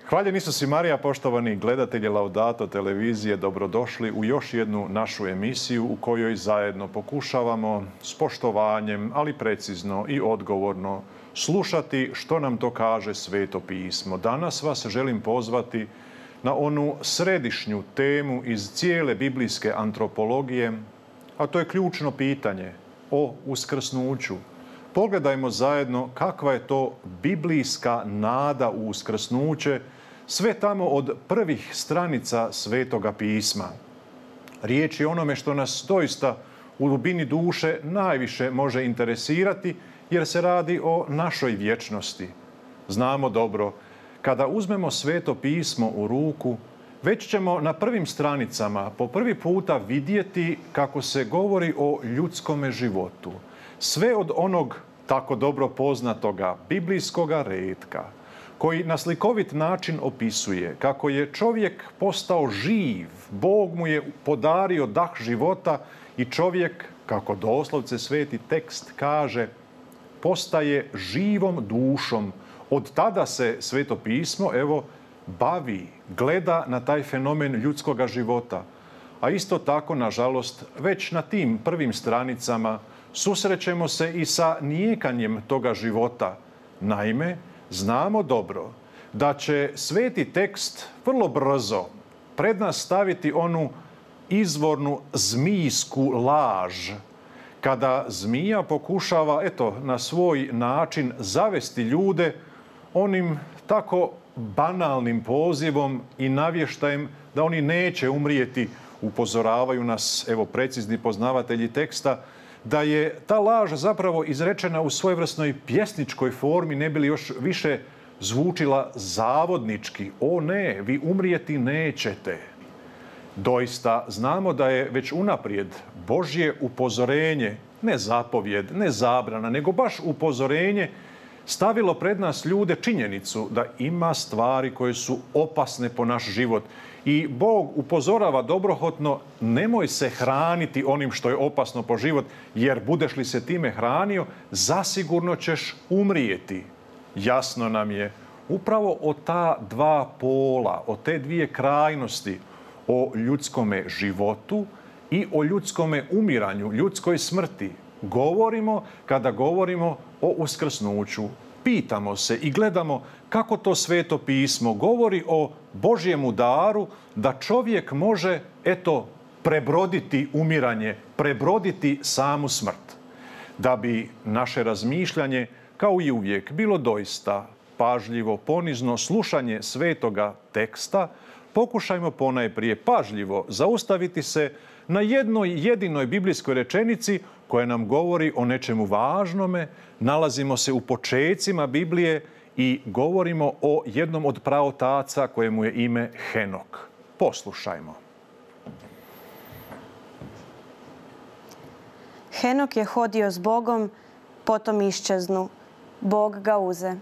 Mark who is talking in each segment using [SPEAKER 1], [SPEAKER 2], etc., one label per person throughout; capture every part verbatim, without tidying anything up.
[SPEAKER 1] Hvaljen Isus i Marija, poštovani gledatelji Laudato televizije, dobrodošli u još jednu našu emisiju u kojoj zajedno pokušavamo s poštovanjem, ali precizno i odgovorno slušati što nam to kaže Sveto pismo. Danas vas želim pozvati na onu središnju temu iz cijele biblijske antropologije, a to je ključno pitanje o uskrsnuću. Pogledajmo zajedno kakva je to biblijska nada u uskrsnuće, sve tamo od prvih stranica Svetoga pisma. Riječ je o onome što nas doista u dubini duše najviše može interesirati, jer se radi o našoj vječnosti. Znamo dobro, kada uzmemo Sveto pismo u ruku, već ćemo na prvim stranicama po prvi puta vidjeti kako se govori o ljudskome životu. Sve od onog tako dobro poznatoga biblijskoga retka, koji na slikovit način opisuje kako je čovjek postao živ, Bog mu je podario dah života i čovjek, kako doslovce sveti tekst kaže, postaje živom dušom. Od tada se Sveto pismo, evo, bavi, gleda na taj fenomen ljudskoga života. A isto tako, nažalost, već na tim prvim stranicama susrećemo se i sa nijekanjem toga života. Naime, znamo dobro da će sveti tekst vrlo brzo pred nas staviti onu izvornu zmijsku laž, kada zmija pokušava, eto, na svoj način zavesti ljude onim tako banalnim pozivom i navještajem da oni neće umrijeti. Upozoravaju nas, evo, precizni poznavatelji teksta, da je ta laž zapravo izrečena u svojevrsnoj pjesničkoj formi, ne bi li još više zvučila zavodnički. O ne, vi umrijeti nećete. Doista znamo da je već unaprijed Božje upozorenje, ne zapovjed, ne zabrana, nego baš upozorenje, stavilo pred nas ljude činjenicu da ima stvari koje su opasne po naš život. I Bog upozorava dobrohotno, nemoj se hraniti onim što je opasno po život, jer budeš li se time hranio, zasigurno ćeš umrijeti. Jasno nam je upravo o ta dva pola, o te dvije krajnosti, o ljudskome životu i o ljudskome umiranju, ljudskoj smrti, govorimo kada govorimo o uskrsnuću. Pitamo se i gledamo kako to Sveto pismo govori o Božjemu daru da čovjek može, eto, prebroditi umiranje, prebroditi samu smrt. Da bi naše razmišljanje, kao i uvijek, bilo doista pažljivo, ponizno slušanje svetoga teksta, pokušajmo ponajprije pažljivo zaustaviti se na jednoj jedinoj biblijskoj rečenici koja nam govori o nečemu važnome. Nalazimo se u počecima Biblije i govorimo o jednom od praotaca kojemu je ime Henok. Poslušajmo.
[SPEAKER 2] Henok je hodio s Bogom, potom iščeznu. Bog ga uze.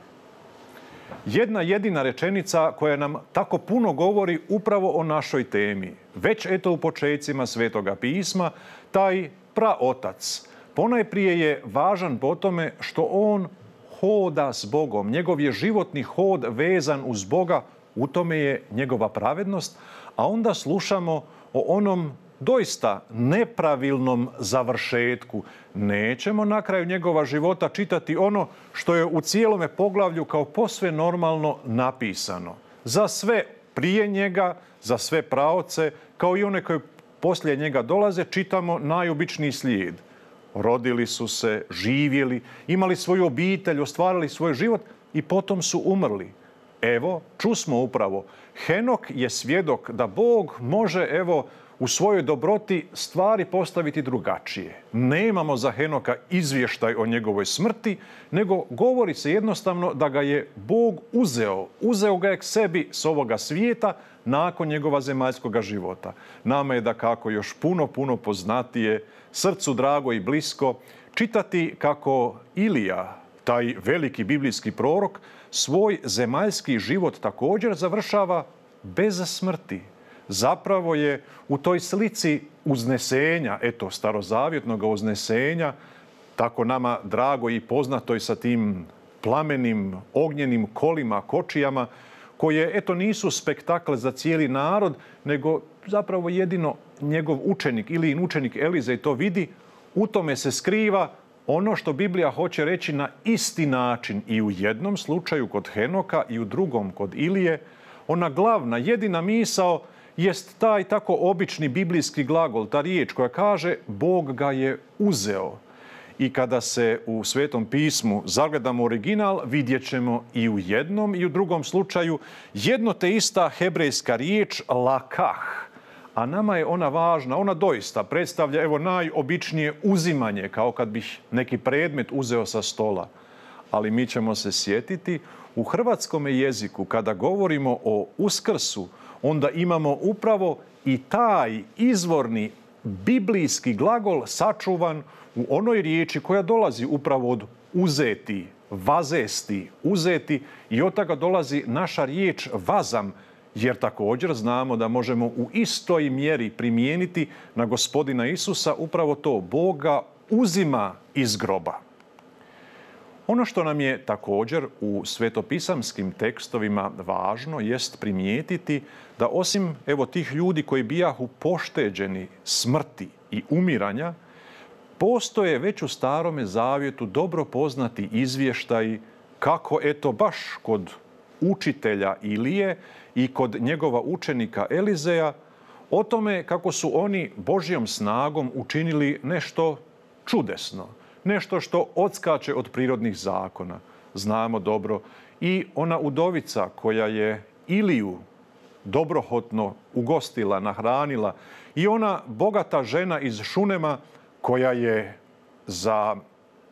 [SPEAKER 1] Jedna jedina rečenica koja nam tako puno govori upravo o našoj temi. Već eto u počecima Svetoga pisma, taj praotac ponajprije je važan po tome što on hoda s Bogom. Njegov je životni hod vezan uz Boga, u tome je njegova pravednost, a onda slušamo o onom doista nepravilnom završetku. Nećemo na kraju njegova života čitati ono što je u cijelome poglavlju kao posve normalno napisano. Za sve prije njega, za sve praoce, kao i one koji poslije njega dolaze, čitamo najobičniji slijed. Rodili su se, živjeli, imali svoju obitelj, ostvarili svoj život i potom su umrli. Evo, čusmo upravo, Henok je svjedok da Bog može, evo, u svojoj dobroti stvari postaviti drugačije. Nemamo za Henoka izvještaj o njegovoj smrti, nego govori se jednostavno da ga je Bog uzeo. Uzeo ga je k sebi s ovoga svijeta nakon njegova zemaljskoga života. Nama je dakako još puno, puno poznatije, srcu drago i blisko, čitati kako Ilija, taj veliki biblijski prorok, svoj zemaljski život također završava bez smrti. Zapravo je u toj slici uznesenja, eto, starozavjetnog uznesenja, tako nama drago i poznato i sa tim plamenim, ognjenim kolima, kočijama, koje, eto, nisu spektakl za cijeli narod, nego zapravo jedino njegov učenik ili učenik Elizej to vidi, u tome se skriva ono što Biblija hoće reći na isti način i u jednom slučaju kod Henoka i u drugom kod Ilije. Ona glavna, jedina misao jest taj tako obični biblijski glagol, ta riječ koja kaže Bog ga je uzeo. I kada se u Svetom pismu zagledamo original, vidjet ćemo i u jednom i u drugom slučaju jedno te ista hebrejska riječ lakah. A nama je ona važna, ona doista predstavlja evo najobičnije uzimanje, kao kad bih neki predmet uzeo sa stola. Ali mi ćemo se sjetiti u hrvatskom jeziku kada govorimo o Uskrsu, onda imamo upravo i taj izvorni biblijski glagol sačuvan u onoj riječi koja dolazi upravo od uzeti, vazesti, uzeti, i od toga dolazi naša riječ vazam, jer također znamo da možemo u istoj mjeri primijeniti na Gospodina Isusa upravo to, Boga uzima iz groba. Ono što nam je također u svetopisamskim tekstovima važno jest primijetiti da osim evo tih ljudi koji bijahu pošteđeni smrti i umiranja, postoje već u Starome zavjetu dobro poznati izvještaji kako eto baš kod učitelja Ilije i kod njegova učenika Elizeja o tome kako su oni Božjom snagom učinili nešto čudesno, nešto što odskače od prirodnih zakona. Znamo dobro i ona udovica koja je Iliju dobrohotno ugostila, nahranila, i ona bogata žena iz Šunema koja je za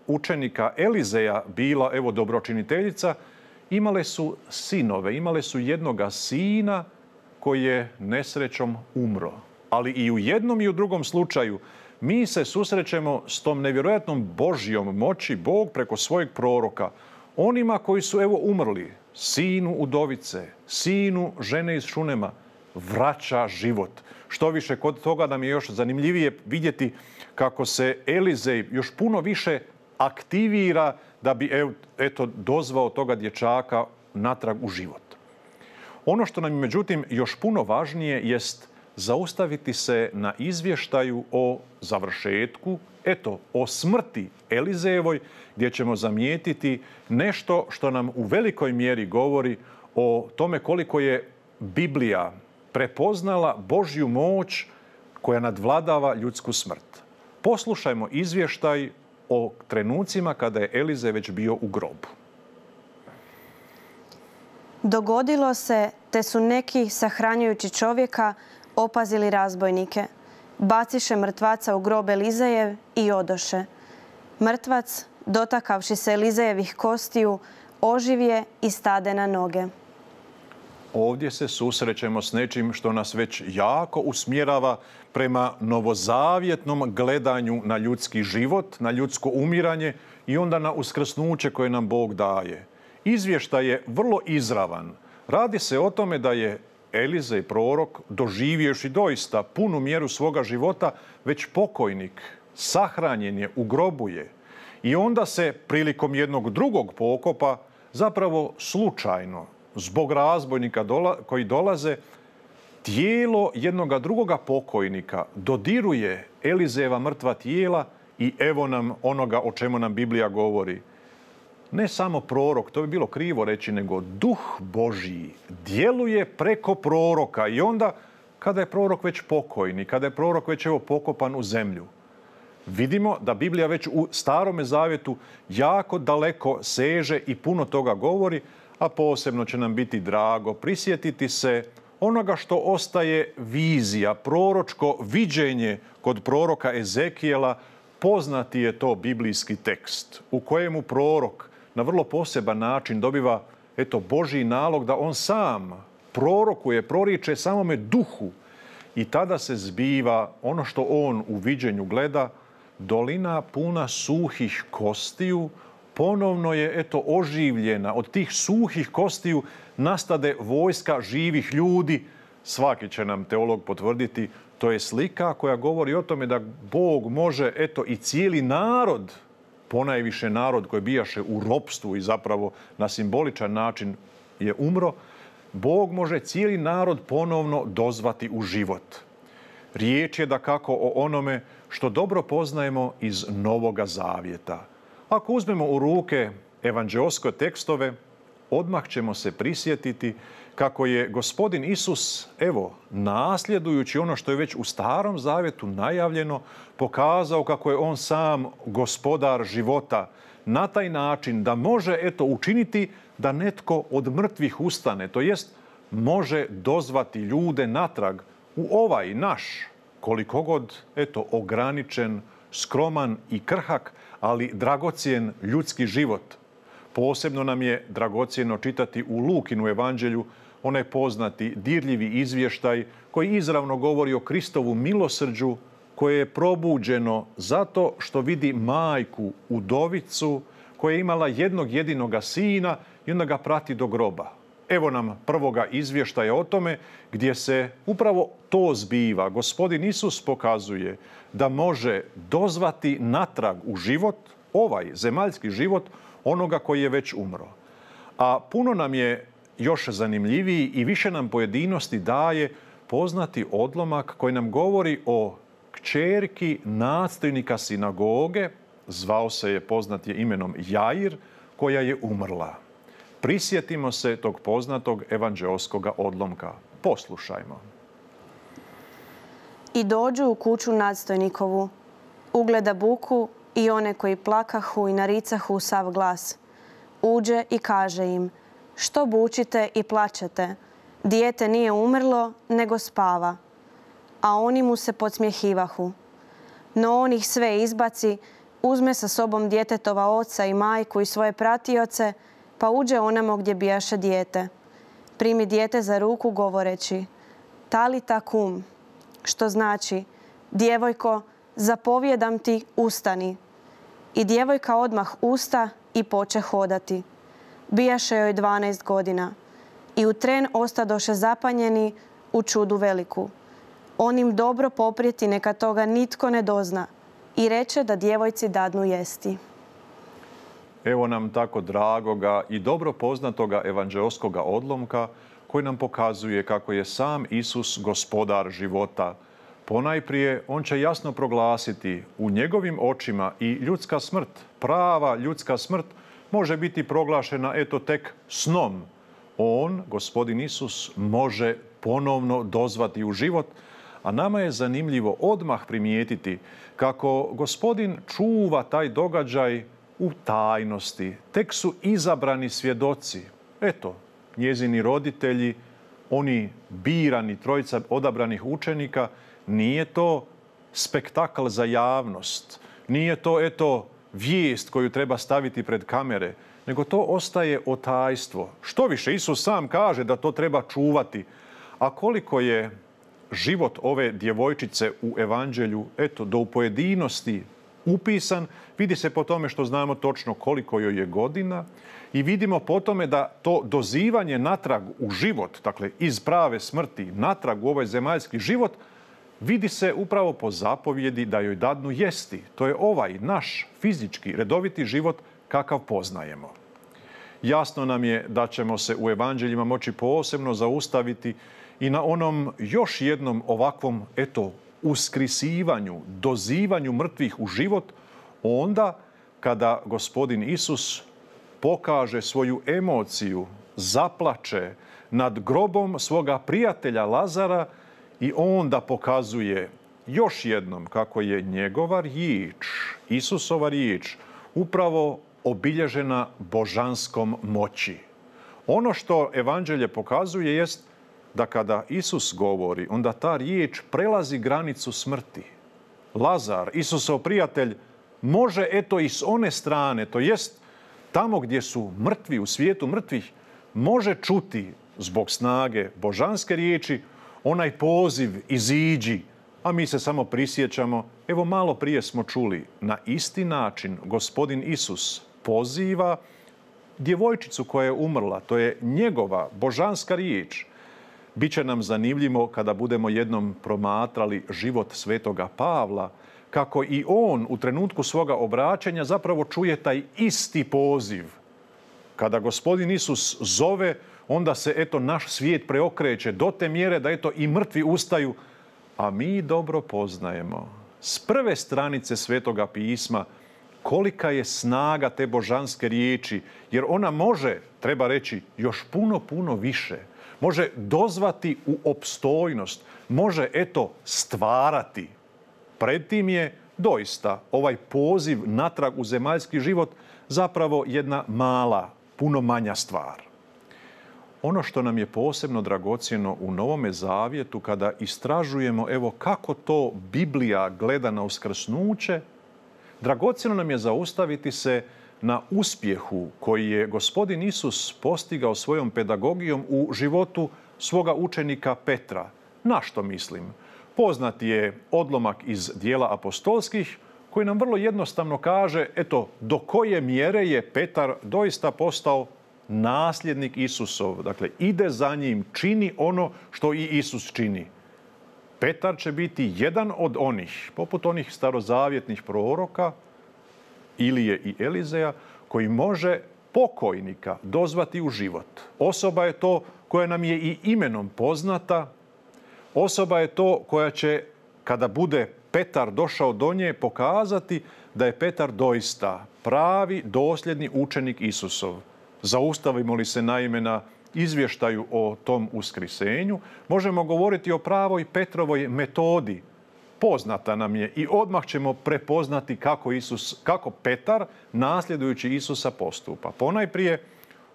[SPEAKER 1] učenika Elizeja bila evo dobročiniteljica, imale su sinove, imale su jednoga sina koji je nesrećom umro. Ali i u jednom i u drugom slučaju mi se susrećemo s tom nevjerojatnom Božjom moći, Bog preko svojeg proroka, onima koji su evo umrli, sinu udovice, sinu žene iz Šunema, vraća život. Što više, kod toga nam je još zanimljivije vidjeti kako se Elizej još puno više aktivira da bi eto dozvao toga dječaka natrag u život. Ono što nam je međutim još puno važnije jest zaustaviti se na izvještaju o završetku, eto o smrti Elizejevoj, gdje ćemo zamijetiti nešto što nam u velikoj mjeri govori o tome koliko je Biblija prepoznala Božju moć koja nadvladava ljudsku smrt. Poslušajmo izvještaj o trenucima kada je Elizej već bio u grobu.
[SPEAKER 2] Dogodilo se, te su neki, sahranjujući čovjeka, opazili razbojnike. Baciše mrtvaca u grob Elizejev i odoše. Mrtvac, dotakavši se Elizejevih kostiju, oživje i stade na noge.
[SPEAKER 1] Ovdje se susrećemo s nečim što nas već jako usmjerava prema novozavjetnom gledanju na ljudski život, na ljudsko umiranje i onda na uskrsnuće koje nam Bog daje. Izvještaj je vrlo izravan. Radi se o tome da je Elizej prorok, doživjevši doista punu mjeru svoga života, već pokojnik, sahranjen je, u grobu je. I onda se prilikom jednog drugog pokopa, zapravo slučajno, zbog razbojnika koji dolaze, tijelo jednoga drugoga pokojnika dodiruje Elizejeva mrtva tijela i evo nam onoga o čemu nam Biblija govori. Ne samo prorok, to bi bilo krivo reći, nego Duh Božji djeluje preko proroka i onda kada je prorok već pokojni, kada je prorok već evo pokopan u zemlju. Vidimo da Biblija već u Starome zavjetu jako daleko seže i puno toga govori, a posebno će nam biti drago prisjetiti se onoga što ostaje vizija, proročko viđenje kod proroka Ezekijela. Poznati je to biblijski tekst u kojemu prorok na vrlo poseban način dobiva eto Božji nalog da on sam prorokuje, proriče samome duhu, i tada se zbiva ono što on u viđenju gleda, dolina puna suhih kostiju, ponovno je eto oživljena. Od tih suhih kostiju nastade vojska živih ljudi. Svaki će nam teolog potvrditi, to je slika koja govori o tome da Bog može eto i cijeli narod, ponajviše narod koji bijaše u ropstvu i zapravo na simboličan način je umro, Bog može cijeli narod ponovno dozvati u život. Riječ je dakako o onome što dobro poznajemo iz Novoga Zavjeta. Ako uzmemo u ruke evanđeoske tekstove, odmah ćemo se prisjetiti kako je Gospodin Isus, evo, nasljedujući ono što je već u Starom Zavjetu najavljeno, pokazao kako je on sam gospodar života na taj način da može, eto, učiniti da netko od mrtvih ustane, to jest može dozvati ljude natrag u ovaj naš, koliko god, eto, ograničen, skroman i krhak, ali dragocjen ljudski život. Posebno nam je dragocjeno čitati u Lukinu evanđelju onaj poznati dirljivi izvještaj koji izravno govori o Kristovu milosrđu koje je probuđeno zato što vidi majku, udovicu, koja je imala jednog jedinoga sina i onda ga prati do groba. Evo nam prvoga izvještaja o tome gdje se upravo to zbiva. Gospodin Isus pokazuje da može dozvati natrag u život, ovaj zemaljski život, onoga koji je već umro. A puno nam je još zanimljiviji i više nam pojedinosti daje poznati odlomak koji nam govori o kćerki nadstojnika sinagoge, zvao se je, poznat je imenom Jair, koja je umrla. Prisjetimo se tog poznatog evanđeoskog odlomka. Poslušajmo.
[SPEAKER 2] I dođu u kuću nadstojnikovu, ugleda buku i one koji plakahu i naricahu u sav glas. Uđe i kaže im, što bučite i plačete? Dijete nije umrlo, nego spava. A oni mu se podsmjehivahu. No on ih sve izbaci, uzme sa sobom djetetova oca i majku i svoje pratioce, pa uđe onamo gdje bijaše dijete. Primi dijete za ruku govoreći, talita kum, što znači, djevojko, zapovjedam ti, ustani. I djevojka odmah usta i poče hodati. Bijaše joj dvanaest godina. I u tren ostadoše zapanjeni u čudu veliku. On im dobro poprijeti, neka toga nitko ne dozna. I reče da djevojci dadnu jesti.
[SPEAKER 1] Evo nam tako dragoga i dobro poznatoga evanđeoskoga odlomka koji nam pokazuje kako je sam Isus gospodar života. Ponajprije, on će jasno proglasiti u njegovim očima i ljudska smrt, prava ljudska smrt, može biti proglašena eto tek snom. On, Gospodin Isus, može ponovno dozvati u život, a nama je zanimljivo odmah primijetiti kako Gospodin čuva taj događaj u tajnosti. Tek su izabrani svjedoci. Eto, njezini roditelji, oni birani, trojica odabranih učenika, nije to spektakl za javnost. Nije to, eto, vijest koju treba staviti pred kamere, nego to ostaje otajstvo. Što više, Isus sam kaže da to treba čuvati. A koliko je život ove djevojčice u evanđelju, eto, do u pojedinosti upisan, vidi se po tome što znamo točno koliko joj je godina i vidimo po tome da to dozivanje natrag u život, dakle iz prave smrti natrag u ovaj zemaljski život, vidi se upravo po zapovjedi da joj dadnu jesti. To je ovaj naš fizički, redoviti život kakav poznajemo. Jasno nam je da ćemo se u evanđeljima moći posebno zaustaviti i na onom još jednom ovakvom, eto, uskrisivanju, dozivanju mrtvih u život, onda kada Gospodin Isus pokaže svoju emociju, zaplače nad grobom svoga prijatelja Lazara i onda pokazuje još jednom kako je njegova riječ, Isusova riječ, upravo obilježena božanskom moći. Ono što evanđelje pokazuje jest da kada Isus govori, onda ta riječ prelazi granicu smrti. Lazar, Isusov prijatelj, može eto i s one strane, to jest tamo gdje su mrtvi, u svijetu mrtvih, može čuti zbog snage božanske riječi onaj poziv iziđi, a mi se samo prisjećamo, evo malo prije smo čuli, na isti način Gospodin Isus poziva djevojčicu koja je umrla, to je njegova božanska riječ. Biće nam zanimljivo kada budemo jednom promatrali život svetoga Pavla, kako i on u trenutku svoga obraćanja zapravo čuje taj isti poziv. Kada Gospodin Isus zove, onda se eto naš svijet preokreće do te mjere da eto i mrtvi ustaju. A mi dobro poznajemo s prve stranice Svetoga pisma kolika je snaga te božanske riječi, jer ona može, treba reći, još puno, puno više. Može dozvati u opstojnost, može eto stvarati. Pred tim je doista ovaj poziv natrag u zemaljski život zapravo jedna mala, puno manja stvar. Ono što nam je posebno dragocjeno u Novome Zavjetu kada istražujemo evo kako to Biblija gleda na uskrsnuće, dragocjeno nam je zaustaviti se na uspjehu koji je Gospodin Isus postigao svojom pedagogijom u životu svoga učenika Petra. Na što mislim? Poznat je odlomak iz dijela apostolskih koji nam vrlo jednostavno kaže eto do koje mjere je Petar doista postao nasljednik Isusov. Dakle, ide za njim, čini ono što i Isus čini. Petar će biti jedan od onih, poput onih starozavjetnih proroka, Ilije i Elizeja, koji može pokojnika dozvati u život. Osoba je to koja nam je i imenom poznata. Osoba je to koja će, kada bude Petar došao do nje, pokazati da je Petar doista pravi, dosljedni učenik Isusov. Zaustavimo li se naime na izvještaju o tom uskrisenju, možemo govoriti o pravoj Petrovoj metodi. Poznata nam je i odmah ćemo prepoznati kako, Isus, kako Petar, nasljedujući Isusa, postupa. Ponajprije,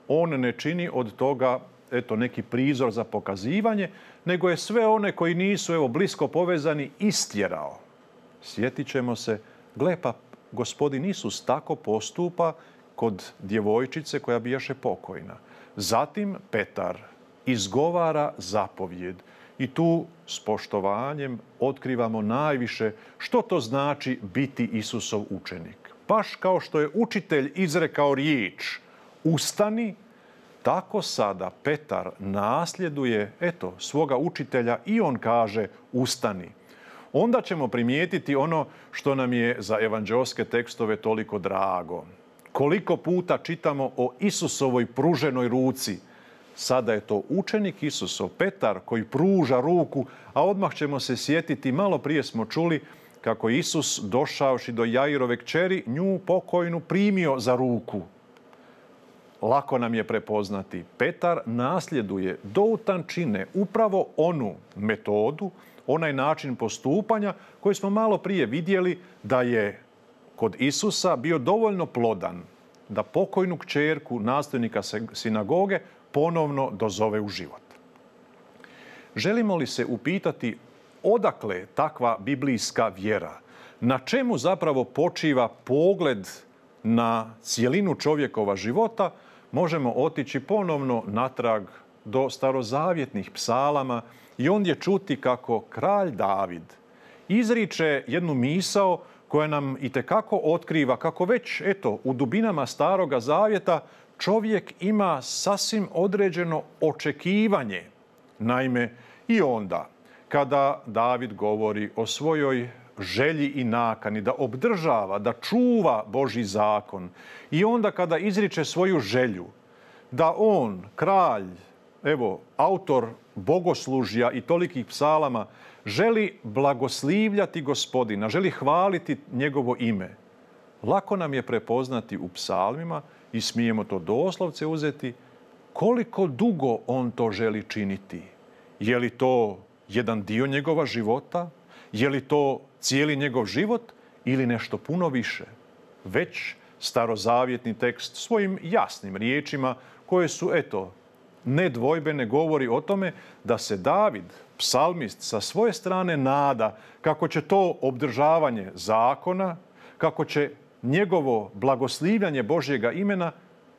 [SPEAKER 1] on ne čini od toga eto, neki prizor za pokazivanje, nego je sve one koji nisu evo, blisko povezani istjerao. Sjetit ćemo se, gle pa Gospodin Isus tako postupa kod djevojčice koja bijaše pokojna. Zatim Petar izgovara zapovjed i tu s poštovanjem otkrivamo najviše što to znači biti Isusov učenik. Baš kao što je učitelj izrekao riječ ustani, tako sada Petar nasljeduje eto, svoga učitelja i on kaže ustani. Onda ćemo primijetiti ono što nam je za evanđeoske tekstove toliko drago. Koliko puta čitamo o Isusovoj pruženoj ruci. Sada je to učenik Isusov, Petar, koji pruža ruku, a odmah ćemo se sjetiti, malo prije smo čuli kako Isus, došavši do Jairove kćeri, nju pokojnu primio za ruku. Lako nam je prepoznati. Petar nasljeduje do utančine upravo onu metodu, onaj način postupanja koji smo malo prije vidjeli da je kod Isusa bio dovoljno plodan da pokojnu kćerku nastavnika sinagoge ponovno dozove u život. Želimo li se upitati odakle takva biblijska vjera? Na čemu zapravo počiva pogled na cijelinu čovjekova života? Možemo otići ponovno natrag do starozavjetnih psalama i ondje čuti kako kralj David izriče jednu misao koja nam itekako otkriva kako već eto, u dubinama Staroga Zavjeta čovjek ima sasvim određeno očekivanje. Naime, i onda kada David govori o svojoj želji i nakani da obdržava, da čuva Božji zakon i onda kada izriče svoju želju da on, kralj, evo, autor bogoslužja i tolikih psalama, želi blagoslivljati Gospodina, želi hvaliti njegovo ime. Lako nam je prepoznati u psalmima i smijemo to doslovce uzeti koliko dugo on to želi činiti. Je li to jedan dio njegova života? Je li to cijeli njegov život ili nešto puno više? Već starozavjetni tekst svojim jasnim riječima koje su, eto, nedvojbene govori o tome da se David, psalmist, sa svoje strane nada kako će to obdržavanje zakona, kako će njegovo blagoslivljanje Božjega imena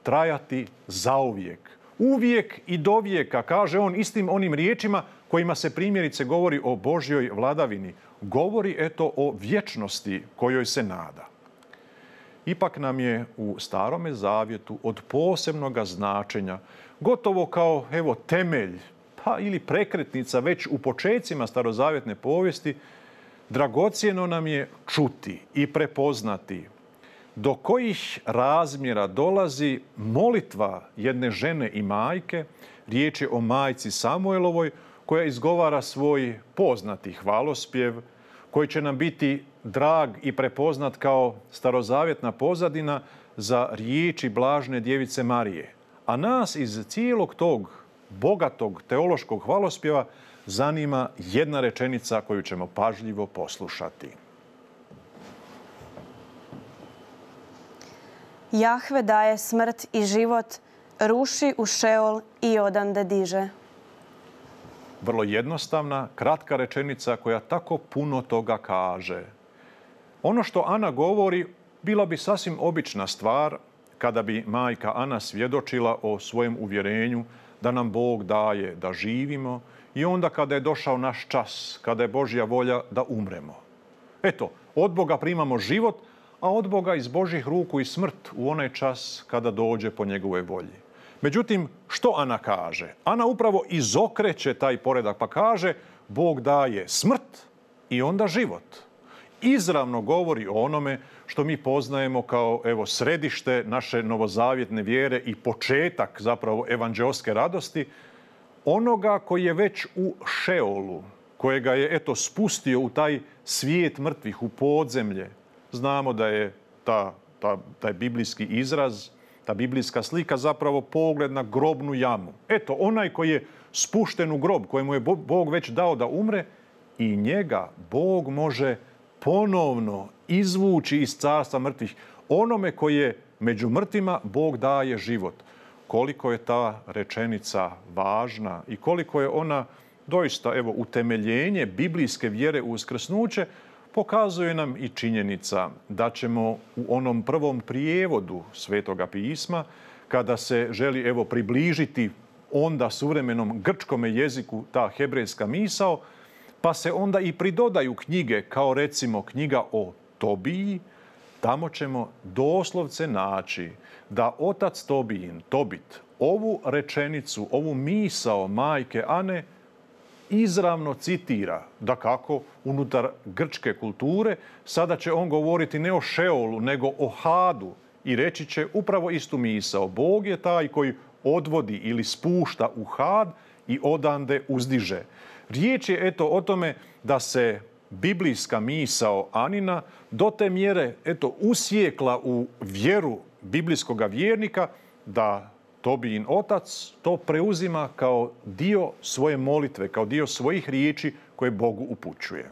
[SPEAKER 1] trajati zauvijek. Uvijek i do vijeka, kaže on istim onim riječima kojima se primjerice govori o Božjoj vladavini. Govori eto o vječnosti kojoj se nada. Ipak nam je u Starome Zavjetu od posebnoga značenja, gotovo kao evo temelj, pa ili prekretnica već u počecima starozavjetne povijesti, dragocjeno nam je čuti i prepoznati do kojih razmjera dolazi molitva jedne žene i majke Riječ je o majci Samuelovoj koja izgovara svoj poznati hvalospjev, koji će nam biti drag i prepoznat kao starozavjetna pozadina za riječi blažne djevice Marije. A nas iz cijelog tog bogatog teološkog hvalospjeva zanima jedna rečenica koju ćemo pažljivo poslušati.
[SPEAKER 2] Jahve daje smrt i život, ruši u Šeol i odande diže.
[SPEAKER 1] Vrlo jednostavna, kratka rečenica koja tako puno toga kaže. Ono što Ana govori bila bi sasvim obična stvar kada bi majka Ana svjedočila o svojem uvjerenju da nam Bog daje da živimo i onda kada je došao naš čas, kada je Božja volja da umremo. Eto, od Boga primamo život, a od Boga iz Božjih ruku i smrt u onaj čas kada dođe po njegove volji. Međutim, što Ana kaže? Ana upravo izokreće taj poredak pa kaže Bog daje smrt i onda život. Izravno govori o onome što mi poznajemo kao evo, središte naše novozavjetne vjere i početak zapravo evanđeoske radosti, onoga koji je već u Šeolu, kojega je eto spustio u taj svijet mrtvih, u podzemlje. Znamo da je ta, ta, taj biblijski izraz, ta biblijska slika zapravo pogled na grobnu jamu. Eto, onaj koji je spušten u grob, kojemu je Bog već dao da umre, i njega Bog može ponovno izvući iz carstva mrtvih. Onome koji je među mrtvima, Bog daje život. Koliko je ta rečenica važna i koliko je ona doista evo, utemeljenje biblijske vjere u uskrsnuće, pokazuje nam i činjenica da ćemo u onom prvom prijevodu Svetoga pisma, kada se želi evo, približiti onda suvremenom grčkome jeziku ta hebrejska misao, pa se onda i pridodaju knjige kao recimo knjiga o Tobiji, tamo ćemo doslovce naći da otac Tobijin, Tobit, ovu rečenicu, ovu misao majke Ane izravno citira, dakako unutar grčke kulture. Sada će on govoriti ne o Šeolu, nego o Hadu i reći će upravo istu misao. Bog je taj koji odvodi ili spušta u Had i odande uzdiže. Riječ je eto o tome da se biblijska misao Anina do te mjere eto usjekla u vjeru biblijskog vjernika da Tobijin otac to preuzima kao dio svoje molitve, kao dio svojih riječi koje Bogu upućuje.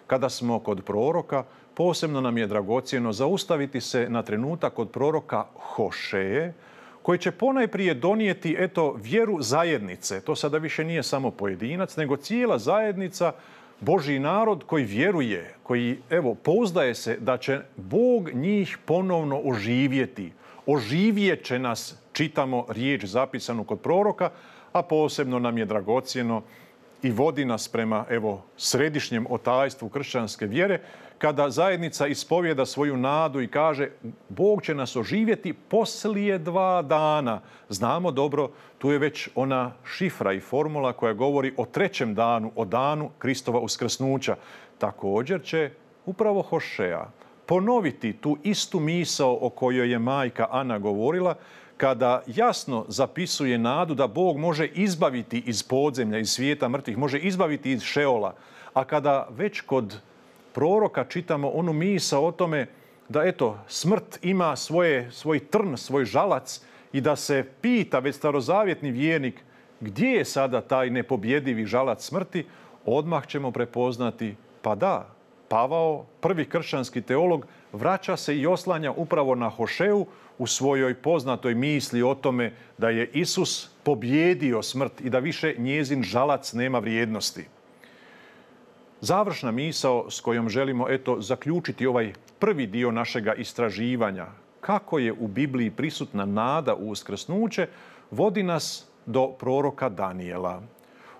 [SPEAKER 1] Kada smo kod proroka, posebno nam je dragocjeno zaustaviti se na trenutak kod proroka Hošeje, koji će ponajprije donijeti eto vjeru zajednice. To sada više nije samo pojedinac, nego cijela zajednica, Božji narod koji vjeruje, koji evo pouzdaje se da će Bog njih ponovno oživjeti. Oživjet će nas, čitamo riječ zapisanu kod proroka, a posebno nam je dragocjeno i vodi nas prema evo središnjem otajstvu kršćanske vjere, kada zajednica ispovjeda svoju nadu i kaže Bog će nas oživjeti poslije dva dana. Znamo dobro, tu je već ona šifra i formula koja govori o trećem danu, o danu Kristova uskrsnuća. Također će upravo Hošeja ponoviti tu istu misao o kojoj je majka Ana govorila, kada jasno zapisuje nadu da Bog može izbaviti iz podzemlja, iz svijeta mrtvih, može izbaviti iz Šeola. A kada već kod proroka čitamo onu misao o tome da eto smrt ima svoje, svoj trn, svoj žalac i da se pita već starozavjetni vjernik gdje je sada taj nepobjedivi žalac smrti, odmah ćemo prepoznati pa da, Pavao, prvi kršćanski teolog, vraća se i oslanja upravo na Hošeju u svojoj poznatoj misli o tome da je Isus pobjedio smrt i da više njezin žalac nema vrijednosti. Završna misao s kojom želimo eto zaključiti ovaj prvi dio našega istraživanja, kako je u Bibliji prisutna nada u uskrsnuće, vodi nas do proroka Danijela.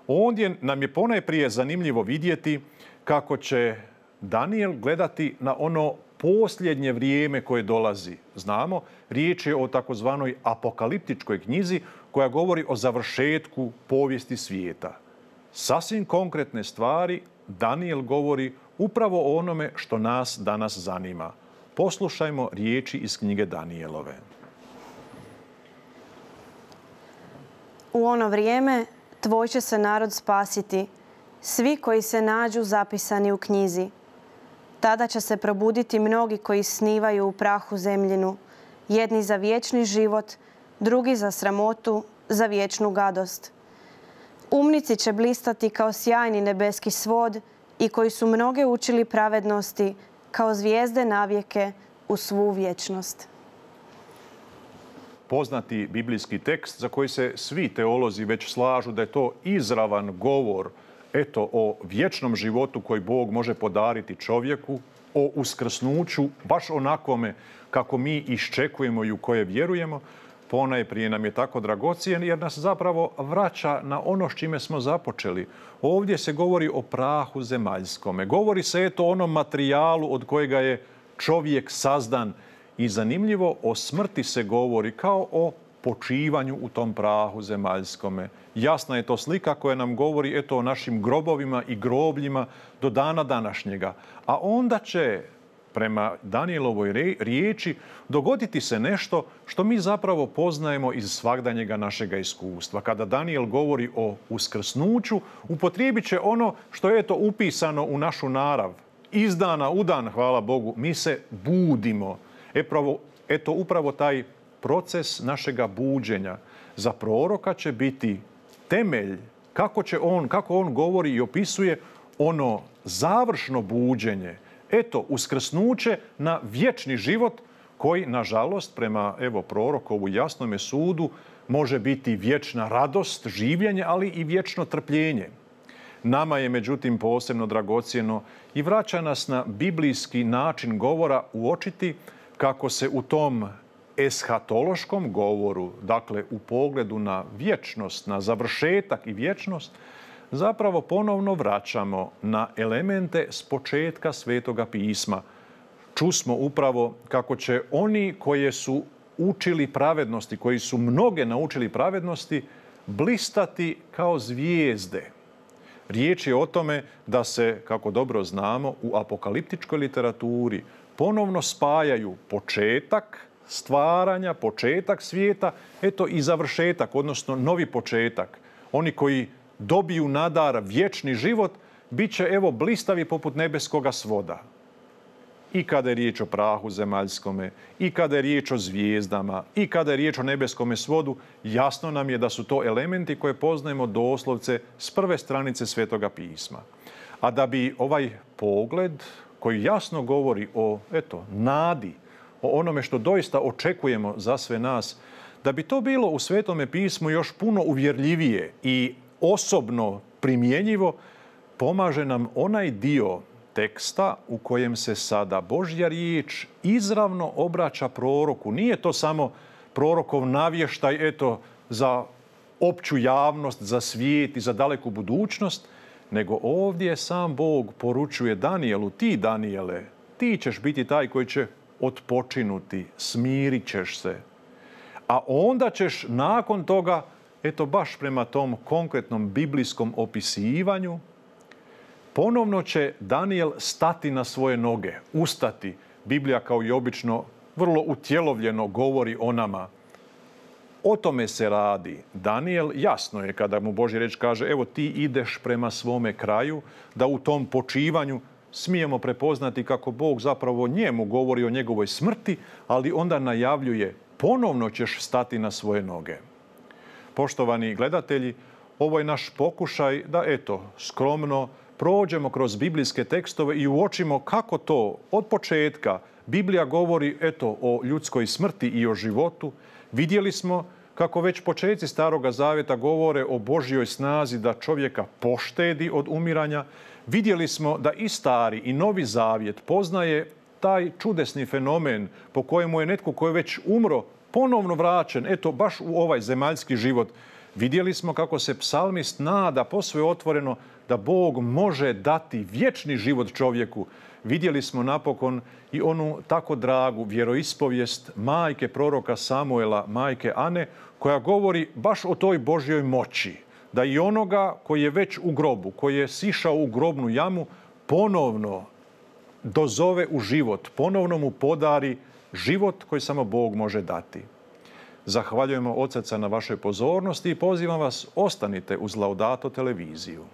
[SPEAKER 1] Ondje nam je ponajprije zanimljivo vidjeti kako će Danijel gledati na ono posljednje vrijeme koje dolazi. Znamo, riječ je o takozvanoj apokaliptičkoj knjizi koja govori o završetku povijesti svijeta. Sasvim konkretne stvari Danijel govori upravo o onome što nas danas zanima. Poslušajmo riječi iz knjige Danijelove.
[SPEAKER 2] U ono vrijeme tvoj će se narod spasiti, svi koji se nađu zapisani u knjizi. Tada će se probuditi mnogi koji snivaju u prahu zemljinu, jedni za vječni život, drugi za sramotu, za vječnu gadost. Umnici će blistati kao sjajni nebeski svod i koji su mnoge učili pravednosti kao zvijezde navijeke u svu vječnost.
[SPEAKER 1] Poznati biblijski tekst za koji se svi teolozi već slažu da je to izravan govor eto o vječnom životu koji Bog može podariti čovjeku, o uskrsnuću, baš onakome kako mi iščekujemo i u koje vjerujemo, ponajprije nam je tako dragocjen jer nas zapravo vraća na ono s čime smo započeli. Ovdje se govori o prahu zemaljskome. Govori se eto o onom materijalu od kojega je čovjek sazdan. I zanimljivo, o smrti se govori kao o počivanju u tom prahu zemaljskome. Jasna je to slika koja nam govori eto o našim grobovima i grobljima do dana današnjega. A onda će, prema Danijelovoj riječi, dogoditi se nešto što mi zapravo poznajemo iz svagdanjega našega iskustva. Kada Danijel govori o uskrsnuću, upotrijebit će ono što je eto upisano u našu narav. Iz dana u dan, hvala Bogu, mi se budimo. Epravo, eto upravo taj proces našega buđenja za proroka će biti temelj kako će on, kako on govori i opisuje ono završno buđenje. Eto, uskrsnuće na vječni život koji, nažalost, prema evo prorokovu jasnome sudu, može biti vječna radost, življenje, ali i vječno trpljenje. Nama je, međutim, posebno dragocjeno i vraća nas na biblijski način govora uočiti kako se u tom eshatološkom govoru, dakle u pogledu na vječnost, na završetak i vječnost, zapravo ponovno vraćamo na elemente s početka Svetoga pisma. Čusmo upravo kako će oni koji su učili pravednosti, koji su mnoge naučili pravednosti, blistati kao zvijezde. Riječ je o tome da se, kako dobro znamo, u apokaliptičkoj literaturi ponovno spajaju početak stvaranja, početak svijeta, eto i završetak, odnosno novi početak. Oni koji dobiju nadar vječni život, bit će evo blistavi poput nebeskoga svoda. I kada je riječ o prahu zemaljskome, i kada je riječ o zvijezdama, i kada je riječ o nebeskome svodu, jasno nam je da su to elementi koje poznajemo doslovce s prve stranice Svetoga pisma. A da bi ovaj pogled koji jasno govori o eto, nadi, o onome što doista očekujemo za sve nas, da bi to bilo u Svetome pismu još puno uvjerljivije i osobno primjenjivo, pomaže nam onaj dio teksta u kojem se sada Božja riječ izravno obraća proroku. Nije to samo prorokov navještaj eto, za opću javnost, za svijet i za daleku budućnost, nego ovdje sam Bog poručuje Danijelu, ti Danijele, ti ćeš biti taj koji će otpočinuti, smirit ćeš se. A onda ćeš nakon toga, eto baš prema tom konkretnom biblijskom opisivanju, ponovno će Danijel stati na svoje noge, ustati. Biblija kao i obično vrlo utjelovljeno govori o nama. O tome se radi. Danijel jasno je kada mu Božja riječ kaže evo ti ideš prema svome kraju, da u tom počivanju smijemo prepoznati kako Bog zapravo njemu govori o njegovoj smrti, ali onda najavljuje ponovno ćeš stati na svoje noge. Poštovani gledatelji, ovo je naš pokušaj da eto skromno prođemo kroz biblijske tekstove i uočimo kako to od početka Biblija govori eto o ljudskoj smrti i o životu. Vidjeli smo kako već počeci Staroga Zavjeta govore o Božjoj snazi da čovjeka poštedi od umiranja. Vidjeli smo da i Stari i Novi Zavjet poznaje taj čudesni fenomen po kojemu je netko koji je već umro ponovno vraćen, eto baš u ovaj zemaljski život. Vidjeli smo kako se psalmist nada posve otvoreno da Bog može dati vječni život čovjeku. Vidjeli smo napokon i onu tako dragu vjeroispovijest majke proroka Samuela, majke Ane, koja govori baš o toj Božjoj moći. Da i onoga koji je već u grobu, koji je sišao u grobnu jamu, ponovno dozove u život, ponovno mu podari život koji samo Bog može dati. Zahvaljujemo od srca na vašoj pozornosti i pozivam vas, ostanite uz Laudato televiziju.